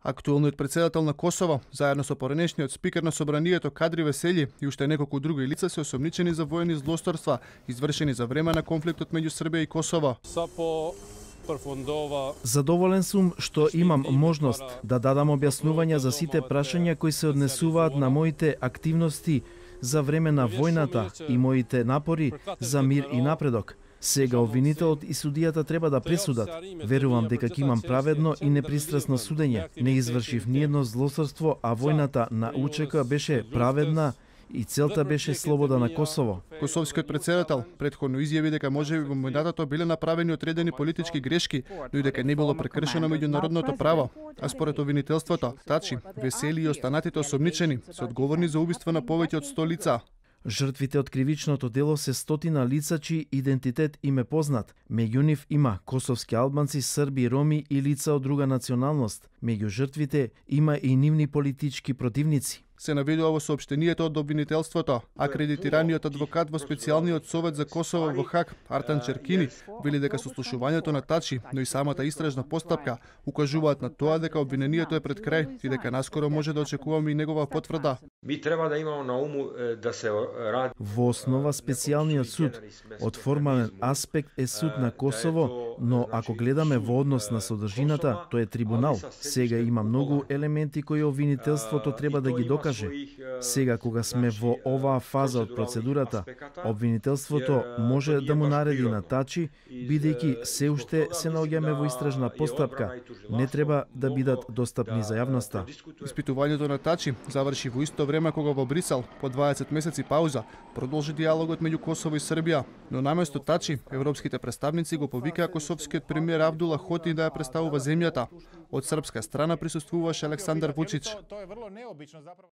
Актуелниот председател на Косово, заедно со поранешниот спикер на собранието Кадри Весели и уште неколку други лица се осомничени за воени злосторства, извршени за време на конфликтот меѓу Србија и Косово. Задоволен сум што имам можност да дадам објаснувања за сите прашања кои се однесуваат на моите активности за време на војната и моите напори за мир и напредок. Сега обвинителот и судијата треба да пресудат. Верувам дека ќе имам праведно и непристрасно судење. Не извршив ниедно злосторство, а војната на УЧК беше праведна и целта беше слобода на Косово. Косовскиот председател претходно изјави дека можеби во мандатот биле направени одредени политички грешки, но и дека не било прекршено меѓународното право. А според обвинителството, Тачи, Весели и останатите осомничени се одговорни за убиство на повеќе од 100 лица. Жртвите од кривичното дело се стотина лица чиј идентитет им е познат. Меѓу нив има косовски албанци, срби, роми и лица од друга националност. Меѓу жртвите има и нивни политички противници. Се наведува во соопштенијето од обвинителството. Акредитираниот адвокат во специјалниот совет за Косово во Хаг, Артан Черкини, вели дека сослушувањето на Тачи, но и самата истражна постапка укажуваат на тоа дека обвинението е пред крај и дека наскоро може да очекуваме и негова потврда. Ми треба да имамо на уму да се ради. Во основа специјалниот суд од формален аспект е суд на Косово, но ако гледаме во однос на содржината, тој е трибунал. Сега има многу елементи кои обвинителството треба да ги докаже. Сега кога сме во оваа фаза од процедурата, обвинителството може да му нареди на Тачи, бидејќи се уште се наоѓаме во истражна постапка, не треба да бидат достапни за јавноста. Испитувањето на Тачи заврши во исто време кога во Брисел, по 20 месеци пауза, продолжи диалогот меѓу Косово и Србија. Но наместо Тачи, европските представници го повикаа косовскиот премиер Абдула Хоти да ја представува земјата. Од српска страна присуствуваше Александар Вучич.